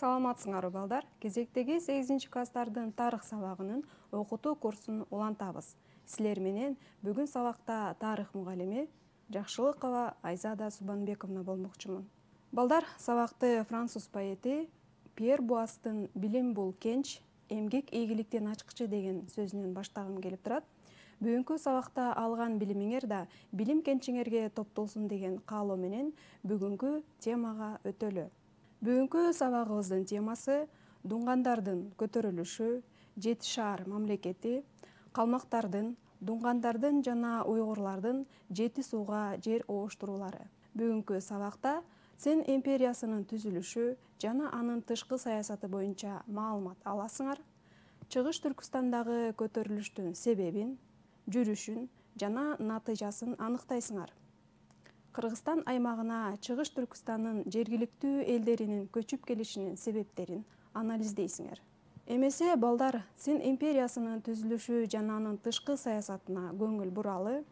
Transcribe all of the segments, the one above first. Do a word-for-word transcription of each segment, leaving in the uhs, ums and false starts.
Саламатсыңарбы балдар? Кезектеги сегизинчи класстардын тарых сабагынын окутуу курсун улантабыз. Силер менен бүгүн сабакта тарых мугалими Жакшылыкова Айзада Субанбековна болмокчумун. Балдар, сабакты француз поэти Пьер Буастын «Билим бул кенч, эмгек ийгиликтен ачкычы» деген сөзүнөн баштагым келип турат. Бүгүнкү сабакта алган билимиңер да билим кенчиңерге топтолсун деген каалоо менен бүгүнкү темага өтөлү. Бүгүнкү сабагыбыздын темасы дуңгандардын көтөрүлүшү, Жети шаар мамлекети, калмактардын, дуңгандардын жана уйгурлардын жети сууга жер обуштуруулары. Бүгүнкү сабакта Цин империясынын түзүлүшү жана анын тышкы саясаты боюнча маалымат аласыңар. Чыгыш Түркүстандагы көтөрүлүштүн себебин, жүрүшүн жана натыйжасын аныктайсыңар. Кыргызстан аймагына Чыгыш Түркүстандын жергиликтүү элдеринин көчүп келишинин себептерин анализдейсиңер. Эмесе балдар, Цин империясынын түзүлүшү жана анын тышкы саясатына көңүл буралы,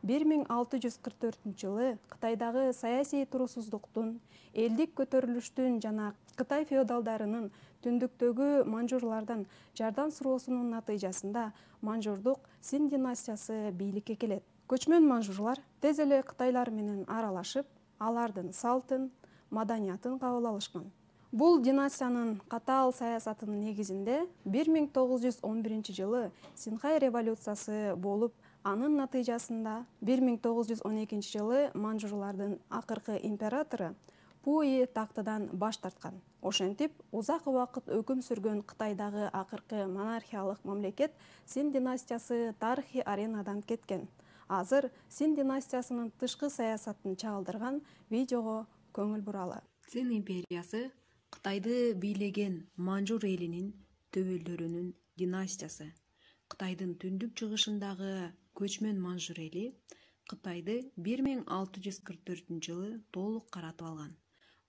бир миң алты жүз кырк төртүнчү жылы Кытайдагы саясий турусуздуктун, элдик көтөрүлүштүн жана Кытай феодалдарынын түндүктөгү манжурлардан жардам суроосунун натыйжасында манжурдук Цин династиясы бийликке келет. Көчмөн манжурлар тез эле кытайлар менен аралашып, алардын салтын, маданиятын кабыл алышкан. Бул династиянын катаал саясатынын негизинде бир миң тогуз жүз он биринчи жылы Синхай революциясы болуп, анын натыйжасында бир миң тогуз жүз он экинчи жылы манжурлардын акыркы императору Пуи тактыдан баш тарткан. Ошентип, узак убакыт өкүм сүргөн Кытайдагы акыркы монархиялык мамлекет Цин династиясы тарыхый аренадан кеткен. Азыр Цин династиясынын тышкы саясатын чагылдырган видеого көңүл буралы. Цин империясы Кытайды бийлеген манжур элинин төбөлдөрүнүн династиясы. Кытайдын түндүк чыгышындагы көчмөн манжур эли Кытайды бир миң алты жүз кырк төртүнчү жылы толук каратып алган.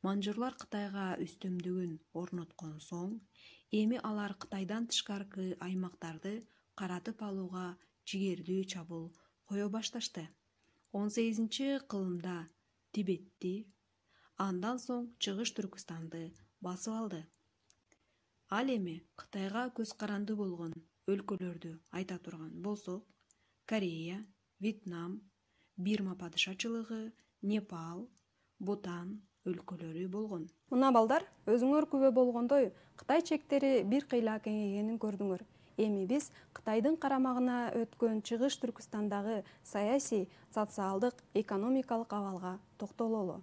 Манжурлар Кытайга үстөмдүгүн орноткон соң, эми алар Кытайдан тышкаркы аймактарды каратып алууга жигердүү чабуул кое башташты. он сегизинчи кылымда Тибетти, андан соң Чыгыш Түркүстанды басып алды. Ал эми Кытайга көз каранды болгон өлкөлөрдү айта турган болсок, Корея, Вьетнам, Бирма падышачылыгы, Непал, Бутан өлкөлөрү болгон. Мына балдар, өзүңөр күбө болгондой, Кытай чектери бир кыйла кеңейгенин көрдүңөр. Эми биз Кытайдын карамагына өткөн Чыгыш Түркүстандагы саясий, социалдык, экономикалык абалга токтололу.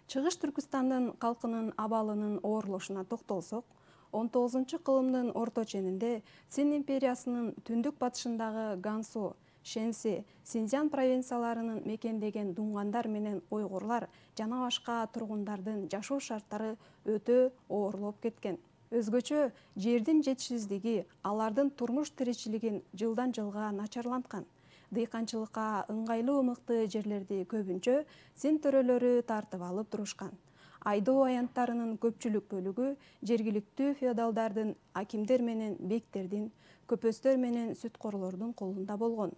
Чыгыш Түркүстандын калкынын абалынын оорлошуна токтолсок, он тогузунчу кылымдын орто ченинде Цин империясынын түндүк батышындагы Гансу, Шэньси, Синьцзян провинцияларынын мекендеген дуңгандар менен уйгурлар жана башка тургундардын жашоо шарттары өтө оорлоп кеткен. Өзгөчө жердин жетишсиздиги алардын турмуш тиричилигин жылдан жылга начарланткан. Дыйканчылыкка ыңгайлуу ымыкты жерлерди көбүнчө Цин төрөлөрү тартып алып турушкан. Айдоо аянттарынын көпчүлүк бөлүгү жергиликтүү феодалдардын, акимдер менен бектердин, көпөстөр менен сүткорлордун колунда болгон.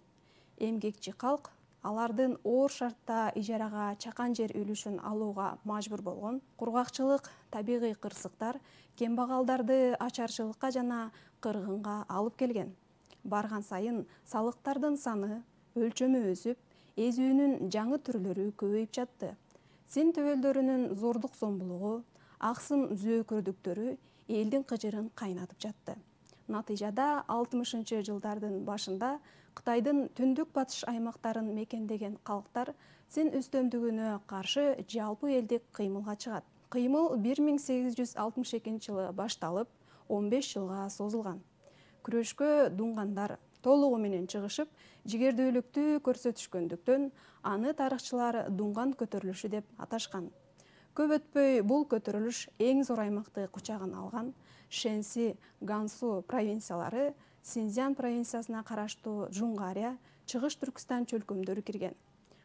Эмгекчи калк алардын оор шартта ижарага чакан жер үлүшүн алууга мажбур болгон. Кургакчылык, табигый кырсыктар кембагалдарды ачарчылыкка жана кыргынга алып келген. Барган сайын салыктардын саны, өлчөмү өсүп, эзүүнүн жаңы түрлөрү көбөйүп жатты. Цин төбөлдөрүнүн зордук зомбулугу, аксым зөөкөрдүктөрү элдин кыжырын кайнатып жатты. Натыйжада алтымышынчы жылдардын башында Кытайдын түндүк батыш аймактарын мекендеген калктар Цин үстөмдүгүнө каршы жалпы элдик кыймылга чыгат. Кыймыл бир миң сегиз жүз алтымыш экинчи жылы башталып, он беш жылга созулган. Күрөшкө дуңгандар толугу менен чыгышып, жигердүүлүктү көрсөтүшкөндүктөн аны тарыхчылар дуңган көтөрүлүшү деп аташкан. Көп өтпөй бул көтөрүлүш эң зор аймакты кучагына алган. Шэньси, Гансу провинциялары, Синьцзян провинциясына караштуу Жунгария, Чыгыш Түркүстан чөлкөмдөрү кирген.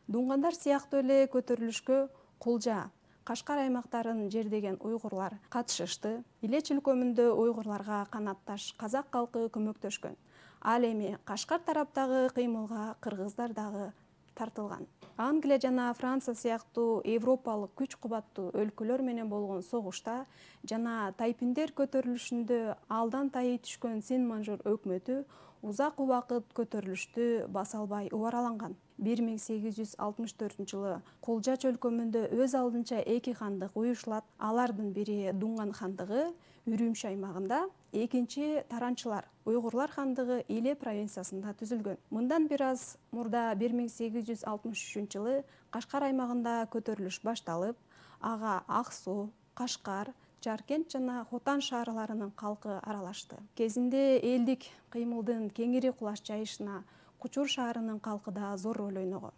Дуңгандар сыяктуу эле көтөрүлүшкө Кулжа, Кашкар аймактарын жердеген уйгурлар катышышты. Иле чөлкөмүндө уйгурларга канатташ казак калкы көмөктөшкөн. Ал эми Кашкар тараптагы кыймылга кыргыздар дагы тартылган. Англия жана Франция сыяктуу европалык күч кубаттуу өлкөлөр менен болгон согушта жана тайпиндер көтөрүлүшүндө алдан тайы түшкөн Сен-Манжур өкмөтү узак убакыт көтөрүлүштү баса албай убараланган. бир миң сегиз жүз алтымыш төртүнчү жылы Кулжа чөлкөмүндө өз алдынча эки хандык уюшулат. Алардын бири Дуңган хандыгы Үрүмчү аймагында, экинчи Таранчылар Уйгурлар хандыгы Иле провинциясында түзүлгөн. Мындан бир аз мурда бир миң сегиз жүз алтымыш үчүнчү жылы Кашкар аймагында көтөрүлүш башталып, ага Ак Суу, Кашкар, Жаркент жана Хотан шаарларынын калкы аралашты. Кезинде элдик кыймылдын кеңири кулаш жайышына Кучур шаарынын калкы да зор роль ойногон.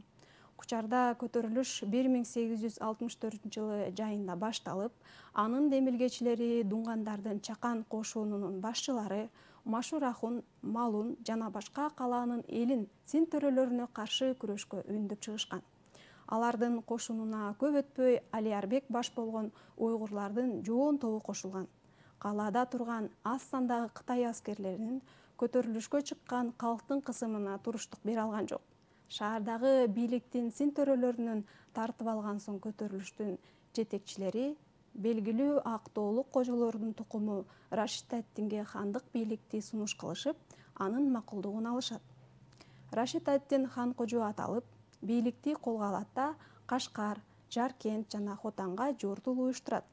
Кучарда көтөрүлүш бир миң сегиз жүз алтымыш төртүнчү жылы жайында башталып, анын демилгечилери дуңгандардын Чакан кошунунун башчылары Машур Ахун, Малун жана башка калаанын элин син төрөлөрүнө каршы күрөшкө үндөп чыгышкан. Алардын кошунуна көп өтпөй Алиарбек баш болгон уйгурлардын жоон тобу кошулган. Калаада турган аз сандагы Кытай аскерлеринин көтөрүлүшкө чыккан калктын кысымына туруштук бере алган жок. Шаардагы бийликтин син төрөлөрүнөн тартып алган соң көтөрүлүштүн жетекчилери белгилүү Актоолук кожолордун тукуму Рашид ад-Динге хандык бийликти сунуш кылышып, анын макулдугун алышат. Рашид ад-Дин хан кожо аталып, бийликти колго алат да Кашкар, Жаркент жана Хотанга жортул уюштурат.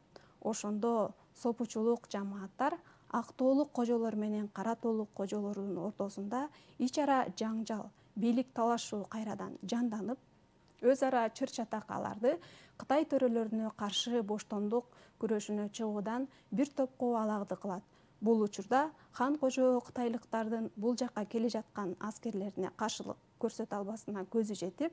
Ошондо сопучулук жамааттар Актоолук кожолор менен Кара тоолук кожолордун ортосунда ич ара жаңжал, бийлик талашуу кайрадан жанданып, өз ара чыр-чатакаларды Кытай төрөлөрүнө каршы боштондук күрөшүнө чыгуудан бир топко алагды кылат. Бул учурда хан кожо кытайлыктардын бул жакка келе жаткан аскерлерине каршылык көрсөтө албасына көзү жетип,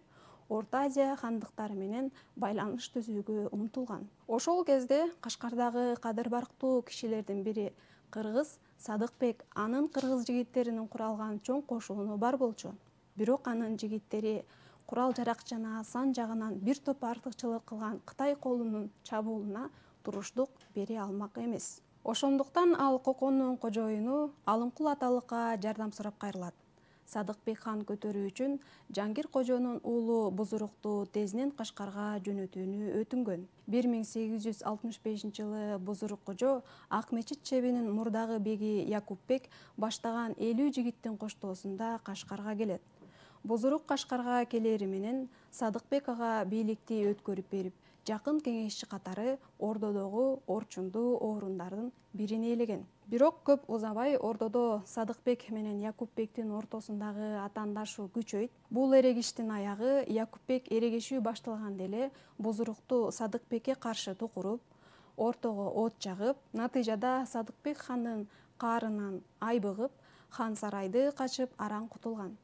Орто Азия хандыктары менен байланыш түзүүгө умтулган. Ошол кезде Кашкардагы кадыр барктуу кишилердин бири кыргыз Садыкбек анын кыргыз жигиттеринин куралган чоң кошууну бар болчу. Бирок анын жигиттери курал-жарак жана сан жагынан бир топ артыкчылык кылган Кытай колунун чабуулуна туруштук бере алмак эмес. Ошондуктан ал Коконун кожоюну Алымкул аталыкка жардам сурап кайрылат. Садыкбек хан көтөрүү үчүн Жангир кожонун уулу Бузурукту тезинен Кашкарга жөнөтүүнү өтүнгөн. бир миң сегиз жүз алтымыш бешинчи жылы Бузурук кожо Ак Мечит чебинин мурдагы беги Якупбек баштаган элүү жигиттин коштоосунда Кашкарга келет. Бузурук Кашкарга келери менен Садыкбек ага бийликти өткөрүп берип, жакын кеңешчи катары Ордодогу орчундуу орундардын бирин ээлеген. Бирок көп узабай Ордодо Садыкбек менен Якупбектин ортосундагы атаандашуу күчөйт. Бул эрегиштин аягы Якупбек эрегишүү башталганда эле Бузурукту Садыкбекке каршы тукуруп, ортого от жагып, натыйжада Садыкбек хандын каарынан айбыгып, хан сарайды качып араң кутулган.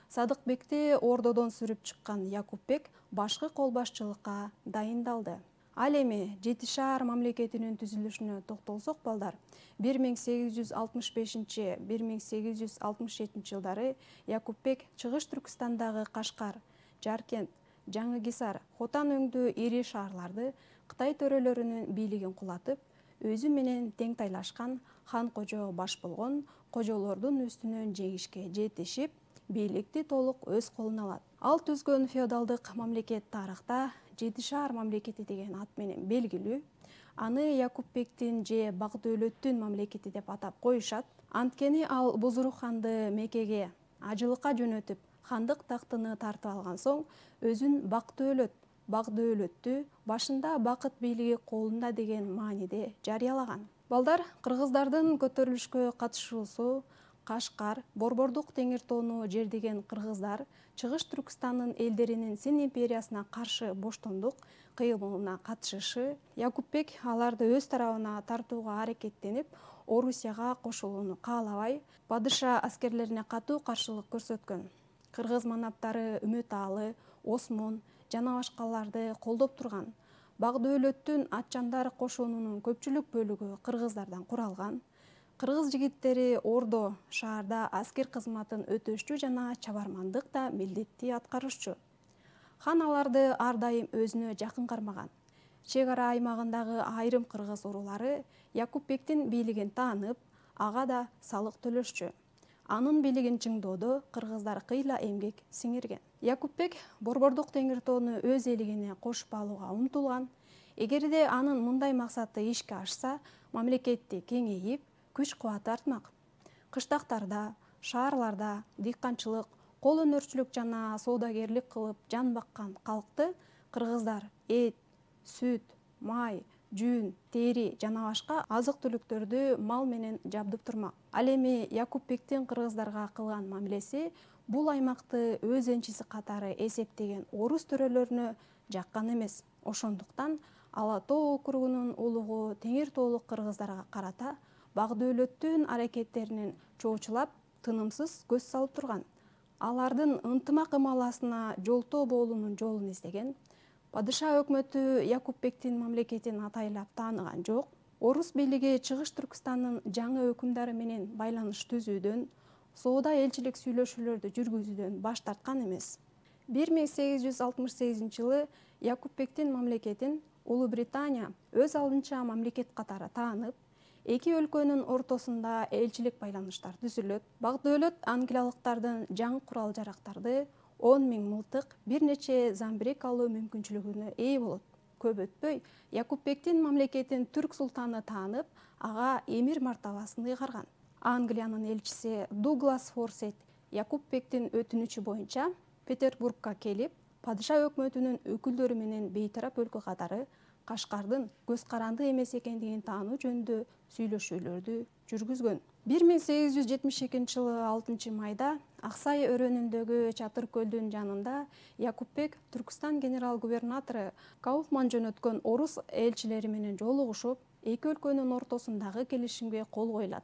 Садыкбекти Ордодон сүрүп чыккан Якупбек башкы кол башчылыкка дайындалды. Ал эми Жети шаар мамлекетинин түзүлүшүнө токтолсок балдар, бир миң сегиз жүз алтымыш бешинчи — бир миң сегиз жүз алтымыш жетинчи жылдары Якупбек Чыгыш Түркістандагы Кашкар, Жаркент, Жаңы Кисар, Хотан өңдүү ири шаарларды Кытай төрөлөрүнүн бийлигин кулатып, өзү менен тең тайлашкан хан кожо баш болгон кожолордун үстүнөн жеңишке жетишип, бийликти толук өз колуна алат. Ал түзгөн феодалдык мамлекет тарыхта Жети шаар мамлекети деген ат менен белгилүү. Аны Якупбектин же Бак-Дөөлөттүн мамлекети деп атап коюшат. Анткени ал Бузурук ханды Мекеге ажылыкка жөнөтүп, хандык тактыны тартып алган соң, өзүн Бак-Дөөлөт, Бак-Дөөлөттү башында бакыт бийлиги колунда деген мааниде жарыялаган. Балдар, кыргыздардын көтөрүлүшкө катышуусу, Кашкар, Борбордук теңир тоону жердеген кыргыздар Чыгыш Түркістандын элдеринин Син империясына каршы боштондук кыймылына катышышы, Якупбек аларды өз тарабына тартууга аракеттенип, Орусияга кошулууну каалабай, падыша аскерлерине катуу каршылык көрсөткөн. Кыргыз манаптары Үмөталы, Осмон жана башкаларды колдоп турган. Бак-Дөөлөттүн Атчандар кошунунун көпчүлүк бөлүгү кыргыздардан куралган. Кыргыз жигиттери Ордо шаарда аскер кызматын өтөшчү жана чабармандык да милдетти аткарышчу. Хан аларды ар дайым өзүнө жакын кармаган. Чек ара аймагындагы айрым кыргыз уруулары Якупбектин бийлигин таанып, ага да салык төлөшчү. Анын бийлигин чыңдоодо кыргыздар кыйла эмгек сиңирген. Якупбек Борбордук теңир тоону өз элигине кошуп алууга умтулган. Эгерде анын мындай максаты ишке ашса, мамлекетти кеңейип, күч-кубаты артмак. Кыштактарда, шаарларда дыйканчылык, кол өнөрчүлүк жана соодагерлик кылып жан баккан калкты кыргыздар эт, сүт, май, жүн, тери жана башка азык-түлүктөрдү мал менен жабдып турмак. Ал эми Якупбектин кыргыздарга кылган мамилеси бул аймакты өз энчиси катары эсептеген орус төрөлөрүнө жаккан эмес. Ошондуктан Ала тоо округунун улугу теңир тоолук кыргыздарга карата бак дөөлөттүн аракеттеринин чоочулап, тынымсыз көз салып турган. Алардын ынтымак ымаласына жолтоо болуунун жолун издеген. Падыша өкмөтү Якупбектин мамлекетин атайлап тааныган жок. Орус бийлиги Чыгыш Түркстандын жаңы өкүмдары менен байланыш түзүүдөн, соода элчилик сүйлөшүүлөрдү жүргүзүүдөн баш тарткан эмес. бир миң сегиз жүз алтымыш сегизинчи жылы Якупбектин мамлекетин Улуу Британия өз алдынча мамлекет катары таанып, эки өлкөнүн ортосунда элчилик байланыштар түзүлөт. Бак дөөлөт англиялыктардын жаңы курал-жарактарды, он миң мылтык, бир нече замбирек алуу мүмкүнчүлүгүнө ээ болот. Көп өтпөй, Якупбектин мамлекетин түрк султаны таанып, ага эмир мартабасын ыйгарган. Англиянын элчиси Дуглас Форсет Якупбектин өтүнүчү боюнча Петербургка келип, падыша өкмөтүнүн өкүлдөрү менен бейтарап өлкө катары Кашкардын көз каранды эмес экендигин таануу жөнүндө сүйлөшүүлөрдү жүргүзгөн. бир миң сегиз жүз жетимиш экинчи жылы алтынчы майда Аксай өрөөнүндөгү Чатыр көлдүн жанында Якупбек Түркстан генерал-губернатору Кауфман жөнөткөн орус элчилери менен жолугушуп, эки өлкөнүн ортосундагы келишимге кол коюлат.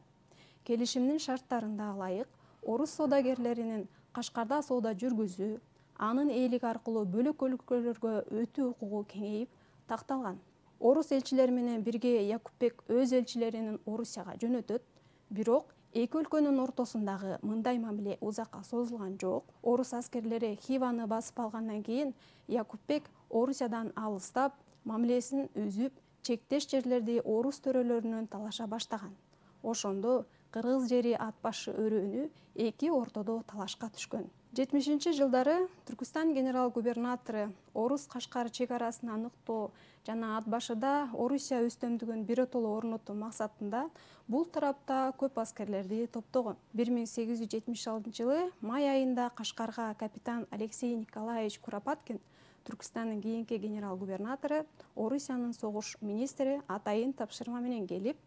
Келишимдин шарттарында ылайык орус соодагерлеринин Кашкарда соода жүргүзүү, анын ээлиги аркылуу бөлөк өлкөлөргө өтүү укугу кеңейип такталган. Орус элчилери менен бирге Якупбек өз элчилерин Орусияга жөнөтөт, бирок эки өлкөнүн ортосундагы мындай мамиле узакка созулган жок. Орус аскерлери Хиваны басып алгандан кийин Якупбек Орусиядан алыстап, мамилесин үзүп, чектеш жерлерди орус төрөлөрүнөн талаша баштаган. Ошондо кыргыз жери ат башы өрөөнү эки ортодо талашка түшкөн. жетимишинчи жылдары Түркстан генерал-губернатору орус Кашкар чек арасын аныктоо жана ат башыда Орусия үстөмдүгүн биротоло орнотуу максатында бул тарапта көп аскерлерди топтогон. бир миң сегиз жүз жетимиш алтынчы жылы май айында Кашкарга капитан Алексей Николаевич Куропаткин, Түркстандын кийинки генерал-губернатору, Орусиянын согуш министри атайын тапшырма менен келип,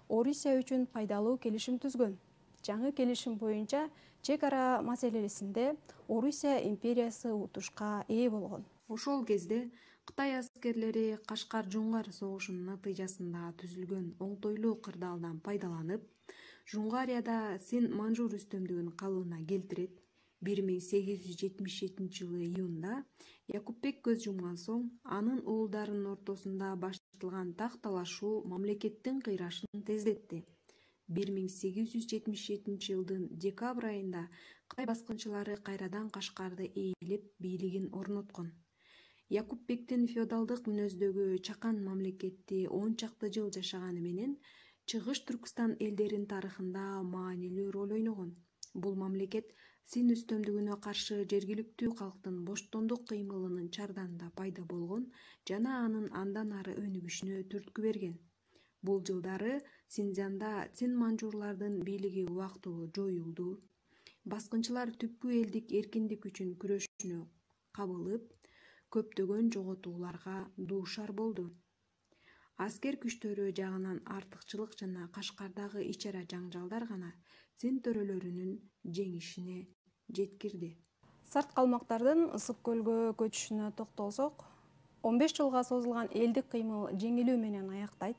Орусия үчүн пайдалуу келишим түзгөн. Жаңы келишим боюнча чек ара маселесинде Орусия империясы утушка ээ болгон. Ошол кезде Кытай аскерлери Кашкар-Жуңгар согушунун натыйжасында түзүлгөн оңтойлуу кырдаалдан пайдаланып, Жуңгарияда Син-Манжур үстөмдүгүн калыбына келтирет. бир миң сегиз жүз жетимиш жетинчи жылы июнда Якупбек көз жумган соң, анын уулдарынын ортосунда башталган так талашуу мамлекеттин кыйрашын тездетти. бир миң сегиз жүз жетимиш жетинчи жылдын декабрь айында Кытай баскынчылары кайрадан Кашкарды ээлеп бийлигин орноткон. Якупбектин феодалдык мүнөздөгү чакан мамлекетти он чакты жыл жашаганы менен Чыгыш Түркстан элдеринин тарыхында маанилүү роль ойногон. Бул мамлекет Син үстөмдүгүнө каршы жергиликтүү калктын боштондук кыймылынын чарданында пайда болгон жана анын андан ары өнүгүшүнө түрткү берген. Бул жылдары Синьцзянда цин-манжурлардын бийлиги убактылуу жоюлду. Баскынчылар түпкү элдик эркиндик үчүн күрөшүүнө кабылып, көптөгөн жоготууларга дуушар болду. Аскер күчтөрү жагынан артыкчылык жана Кашкардагы ич-ара жаңжалдар гана цин төрөлөрүнүн жеңишине жеткирди. Сарт калмактардын Ысык көлгө көчүшүнө токтолсок, он беш жылга созулган элдик кыймыл жеңилүү менен аяктайт.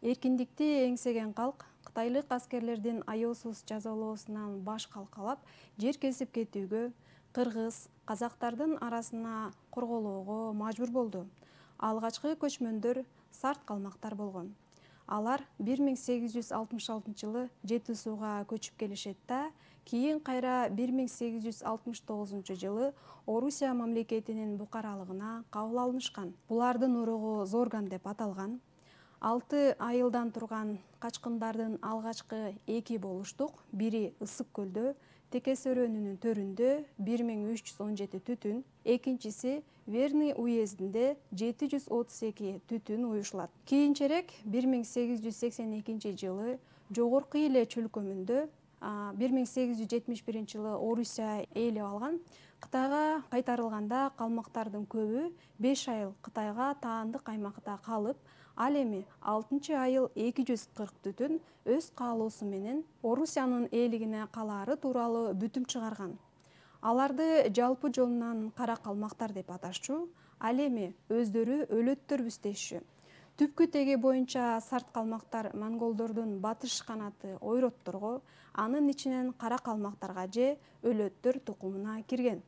Эркиндикти эңсеген калк кытайлык аскерлердин аяосуз жазалоосунан баш калкалап, жер кесип кетүүгө, кыргыз, казактардын арасына корголоого мажбур болду. Алгачкы көчмөндөр сарт калмактар болгон. Алар бир миң сегиз жүз алтымыш алтынчы жылы Жети сууга көчүп келишет да, кийин кайра бир миң сегиз жүз алтымыш тогузунчу жылы Орусия мамлекетинин букаралыгына кабыл алынышкан. Булардын уругу Зорган деп аталган. алты айылдан турган качкындардын алгачкы эки болуштук, бири Ысык көлдө, Текес өрөөнүнүн төрүндө бир миң үч жүз он жети түтүн, экинчиси Верный уездинде жети жүз отуз эки түтүн уюшулат. Кийинчерээк бир миң сегиз жүз сексен экинчи жылы Жогорку Иле чөлкөмүндө бир миң сегиз жүз жетимиш биринчи жылы Орусия ээлеп алган. Кытайга кайтарылганда калмактардын көбү беш айыл Кытайга таандык аймакта калып, ал эми алтынчы айыл эки жүз кырк түтүн өз каалоосу менен Орусиянын ээлигине калаары тууралуу бүтүм чыгарган. Аларды жалпы жолунан кара калмактар деп аташчу, ал эми өздөрү өлөттөрбүз дешчү. Түпкү теги боюнча сарт калмактар монголдордун батыш канаты ойротторго, анын ичинен кара калмактарга же өлөттөр тукумуна кирген.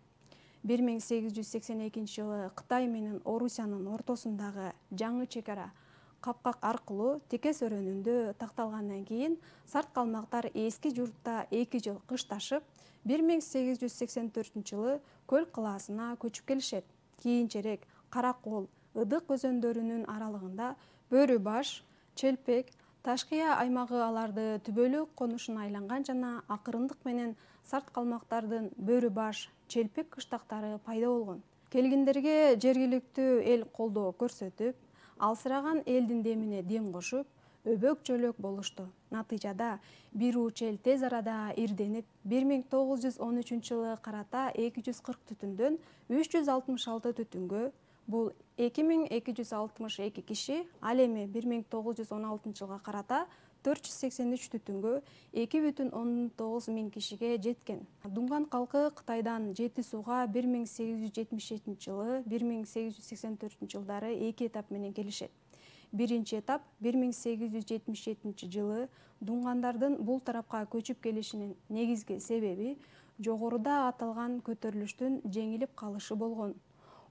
бир миң сегиз жүз сексен экинчи жылы Кытай менен Орусиянын ортосундагы жаңы чек ара капкак аркылуу Текес өрөөнүндө такталгандан кийин сарт калмактар эски журтта эки жыл кышташып, бир миң сегиз жүз сексен төртүнчү жылы Көл калаасына көчүп келишет. Кийинчерээк Кара Кол, Ыдык өзөндөрүнүн аралыгында Бөрү баш, Челпек, Ташкыя аймагы аларды түбөлүк конушуна айланган жана акырындык менен сарт калмактардын Бөрү баш, Челпек кыштактары пайда болгон. Келгиндерге жергиликтүү эл колдоо көрсөтүп, алсыраган элдин демине дем кошуп, өбөк жөлөк болушту. Натыйжада бир уч эл тез арада ирденип, бир миң тогуз жүз он үчүнчү жылы карата эки жүз кырк түтүндөн үч жүз алтымыш алты түтүнгө, бул эки миң эки жүз алтымыш эки киши, ал эми бир миң тогуз жүз он алтынчы жылга карата төрт жүз сексен үч түтүнгө эки бүтүн ондон тогуз миң кишиге жеткен. Дунган калкы Кытайдан Жети сууга бир миң сегиз жүз жетимиш жетинчи жылы, бир миң сегиз жүз сексен төртүнчү жылдары эки этап менен келишет. Биринчи этап бир миң сегиз жүз жетимиш жетинчи жылы дунгандардын бул тарапка көчүп келишинин негизги себеби жогоруда аталган көтөрүлүштүн жеңилип калышы болгон.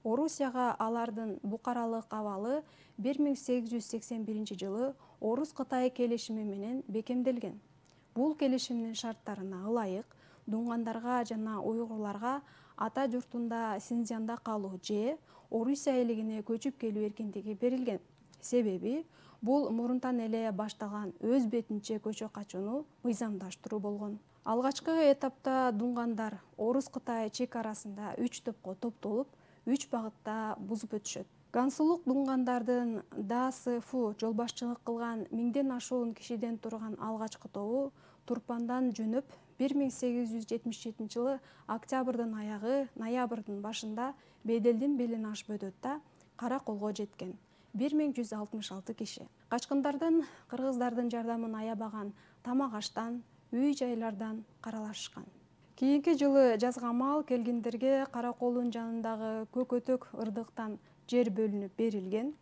Орусияга алардын букаралык абалы бир миң сегиз жүз сексен биринчи жылы Орус-Кытай келишими менен бекемделген. Бул келишимдин шарттарына ылайык дунгандарга жана уйгурларга ата журтунда Синьцзянда калуу же Орусия элигине көчүп келүү эркиндиги берилген. Себеби бул мурунтан эле башталган өз бетинче көчө качууну мыйзамдаштыруу болгон. Алгачкы этапта дунгандар Орус-Кытай чек арасында үч топко топтолуп, үч багытта бузуп өтүшөт. Гансулук дунгандардын ДАСФУ жолбашчылык кылган миңден ашуун кишиден турган алгачкы тобу Турпандан жөнөп, бир миң сегиз жүз жетимиш жетинчи жылы октябрдын аягы, ноябрдын башында Беделдин белин ашып өтөт да Кара Колго жеткен. бир миң жүз алтымыш алты киши. Качкындардын кыргыздардын жардамын аябаган тамак аштан, үй жайлардан каралашышкан. Кийинки жылы жазга маал келгиндерге Кара Колдун жанындагы Көкөтөк ырдыктан жер бөлүнүп берилген.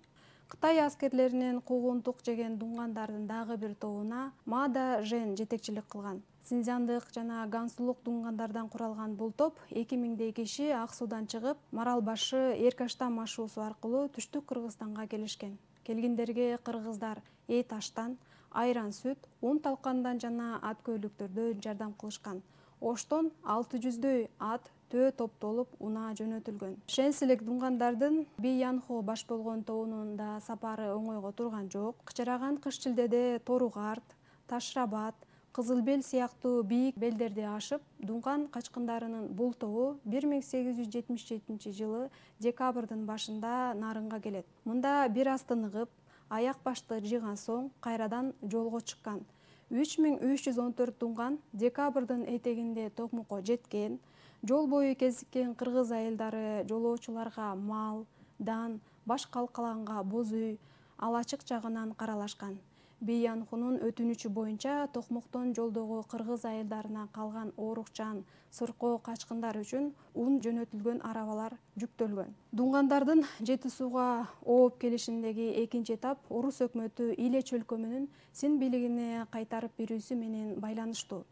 Кытай аскерлеринин куугунтук жеген дунгандардын дагы бир тобуна Мада Жен жетекчилик кылган. Синьцзяндык жана гансулук дунгандардан куралган бул топ эки миңдей киши Ак суудан чыгып, Марал башы Эркаштан машуусу аркылуу түштүк Кыргызстанга келишкен. Келгиндерге кыргыздар эт аштан, айран сүт, ун талкандан жана ат көйлөктөрдөн жардам кылышкан. Оштон алты жүздөй ат төө топтолуп унаа жөнөтүлгөн. Шенселек дунгандардын Биянхо баш болгон тобунун да сапары оңойго турган жок. Кычыраган кыш-шилдеде Торугарт, Ташрабат, Кызыл бел сыяктуу бийик белдерди ашып, дунган качкындарынын бул тобу бир миң сегиз жүз жетимиш жетинчи жылы декабрдын башында Нарынга келет. Мында бир аз тыныгып, аяк башты жыйган соң кайрадан жолго чыккан. үч миң үч жүз он төрт дунган декабрдын этегинде Токмокко жеткен. Жол бою кезиккен кыргыз айылдары жолоочуларга мал, дан, баш калкаланга боз үй, алачык жагынан каралашкан. Биянхунун өтүнүчү боюнча Токмоктон жолдогу кыргыз айылдарына калган оорукчан, сыркоо качкындар үчүн ун жөнөтүлгөн арабалар жүктөлгөн. Дунгандардын Жети сууга ооп келишиндеги экинчи этап Орус өкмөтү Иле чөлкөмүнүн Син бийлигине кайтарып берүүсү менен байланыштуу.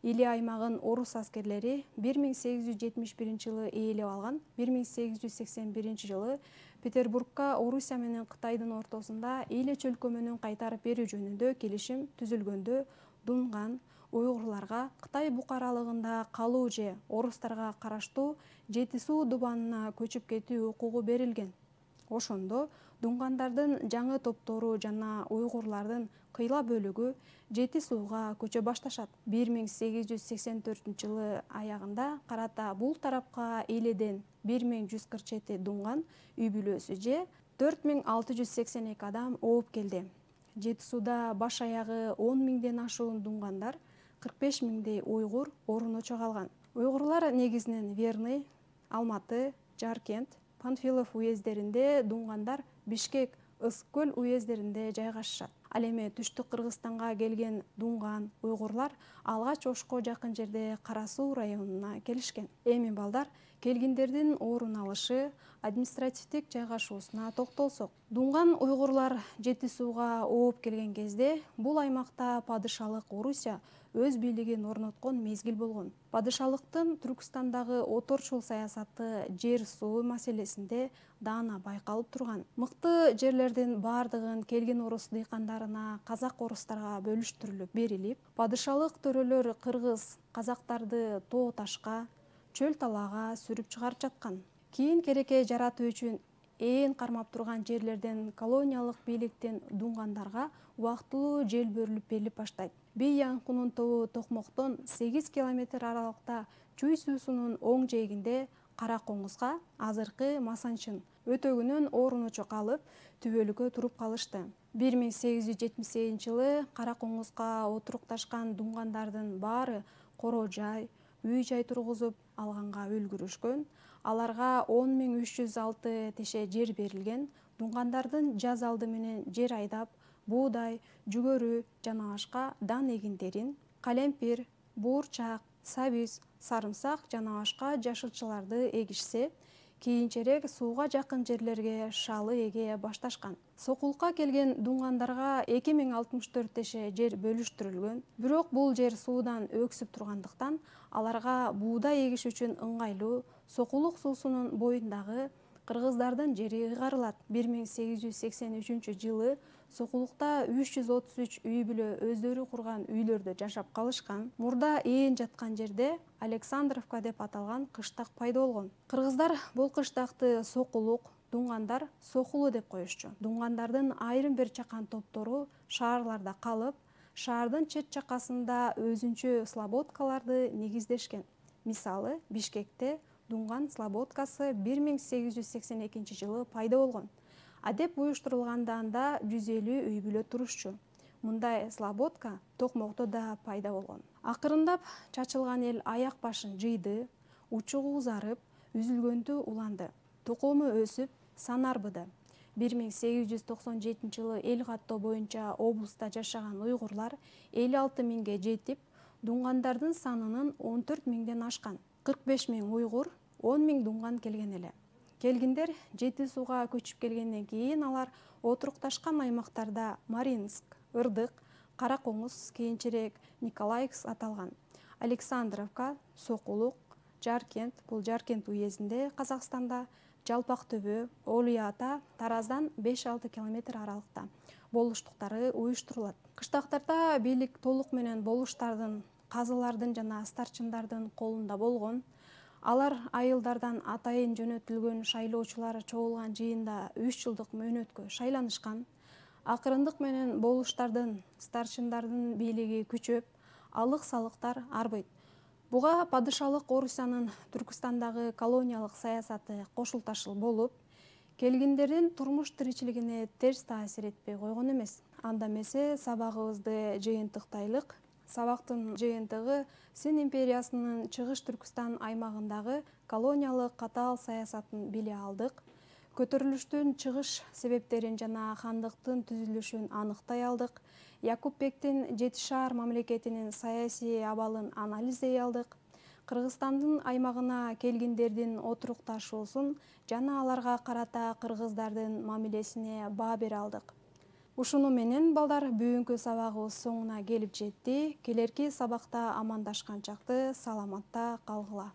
Иле аймагын орус аскерлери бир миң сегиз жүз жетимиш биринчи жылы ээлеп алган. бир миң сегиз жүз сексен биринчи жылы Петербургка Орусия менен Кытайдын ортосунда Иле чөлкөмүнүн кайтарып берүү жөнүндө келишим түзүлгөндө дунган уйгурларга Кытай букаралыгында калуу же орустарга караштуу Жети суу дубанына көчүп кетүү укугу берилген. Ошондо дуңгандардын жаңы топтору жана уйгурлардын кыйла бөлүгү Жети сууга көчө башташат. бир миң сегиз жүз сексен төртүнчү жылы аягында карата бул тарапка эледен бир миң жүз кырк жети дуңган үй бүлөсү же төрт миң алты жүз сексен эки адам ооп келди. Жети сууда баш аягы он миңден ашуун дуңгандар, кырк беш миңдей уйгур оруночо калган. Уйгурлар негизинен Верный, Алматы, Жаркент, Панфилов уездеринде, дуңгандар Бишкек, Ысык көл уездеринде жайгашышат. Ал эми түштүк Кыргызстанга келген дуңган уйгурлар алгач Ошко жакын жерде Кара Суу районуна келишкен. Эми балдар келгиндердин орун алышы, административдик жайгашуусуна токтолсок. Дуңган уйгурлар Жети сууга ооп келген кезде бул аймакта падышалык Орусия өз бийлигин орноткон мезгил болгон. Падышалыктын Түркстандагы оторчул саясаты жер суу маселесинде даана байкалып турган. Мыкты жерлердин бардыгын келген орус дыйкандарына, казак орустарга бөлүштүрүлүп берилип, падышалык төрөлөр кыргыз казактарды тоо ташка, чөл талаага сүрүп чыгарып жаткан. Кийин кереке жаратуу үчүн ээн кармап турган жерлерден колониялык бийликтен дуңгандарга убактылуу жер берилип берилип баштайт. Бий Янкунун тобу Токмоктон сегиз километр аралыкта Чуй суусунун оң жээгинде Кара Коңузга, азыркы Масанчын өтөгүнөн оруночо калып, түбөлүккө туруп калышты. бир миң сегиз жүз жетимиш сегизинчи жылы Кара Коңузга отурукташкан дуңгандардын баары коро жай, үй жай тургузуп алганга үлгүрүшкөн. Аларга он миң үч жүз алты теше жер берилген. Дуңгандардын жаз алды менен жер айдап, буудай, жүгөрү жана башка дан эгиндерин, калемпир, буурчак, сабиз, сарымсак жана башка жашылчаларды эгишсе, кийинчерээк сууга жакын жерлерге шалы эге башташкан. Сокулукка келген дуңгандарга эки миң алтымыш төрт теше жер бөлүштүрүлгөн. Бирок бул жер суудан өксүп тургандыктан аларга буудай эгиш үчүн ыңгайлуу Сокулук суусунун боюндагы кыргыздардын жери ыйгарылат. бир миң сегиз жүз сексен үчүнчү жылы Сокулукта үч жүз отуз үч үй бүлө өздөрү курган үйлөрдө жашап калышкан. Мурда ээн жаткан жерде Александровка деп аталган кыштак пайда болгон. Кыргыздар бул кыштакты Сокулук, дуңгандар Сокулу деп коюшчу. Дуңгандардын айрым бир чакан топтору шаарларда калып, шаардын чет чакасында өзүнчө слободкаларды негиздешкен. Мисалы, Бишкекте дуңган слободкасы бир миң сегиз жүз сексен экинчи жылы пайда болгон. Адеп уюштурулганда анда жүз элүү үй бүлө турушчу. Мындай слободка Токмокто да пайда болгон. Акырындап чачылган эл аяк башын жыйды, учугу узарып, үзүлгөндү уланды. Тукуму өсүп, сан арбыды. бир миң сегиз жүз токсон жетинчи жылы эл каттоо боюнча облуста жашаган уйгурлар элүү алты миңге жетип, дуңгандардын санынын он төрт миңден ашкан. кырк беш миң уйгур, он миң дуңган келген эле. Келгиндер Жети сууга көчүп келгенден кийин алар отурукташкан аймактарда Маринск, Ырдык, Кара Коңуз, кийинчерээк Николаевск аталган. Александровка, Сокулук, Жаркент, бул Жаркент уездинде Казакстанда, Жалпак төбө, Олуй ата, Тараздан беш алты километр аралыкта болуштуктары уюштурулат. Кыштактарда бийлик толук менен болуштардын, казылардын жана старчындардын колунда болгон. Алар айылдардан атайын жөнөтүлгөн шайлоочулар чогулган жыйында үч жылдык мөөнөткө шайланышкан. Акырындык менен болуштардын, старчындардын бийлиги күчөп, алык-салыктар арбыйт. Буга падышалык Орусиянын Түркстандагы колониялык саясаты кошулташыл болуп, келгиндердин турмуш тиричилигине терс таасир этпей койгон эмес. Анда эмесе сабагыбызды жыйынтыктайлык. Сабактын жыйынтыгы Син империясынын Чыгыш Түркстан аймагындагы колониялык катаал саясатын биле алдык. Көтөрүлүштүн чыгыш себептерин жана хандыктын түзүлүшүн аныктай алдык. Якуп Бектин Жети шаар мамлекетинин саясий абалын анализдей алдык. Кыргызстандын аймагына келгиндердин отурукташуусун жана аларга карата кыргыздардын мамилесине баа бере алдык. Ушуну менен балдар бүгүнкү сабагыбыз соңуна келип жетти. Келерки сабакта амандашкан чакты саламатта калгыла.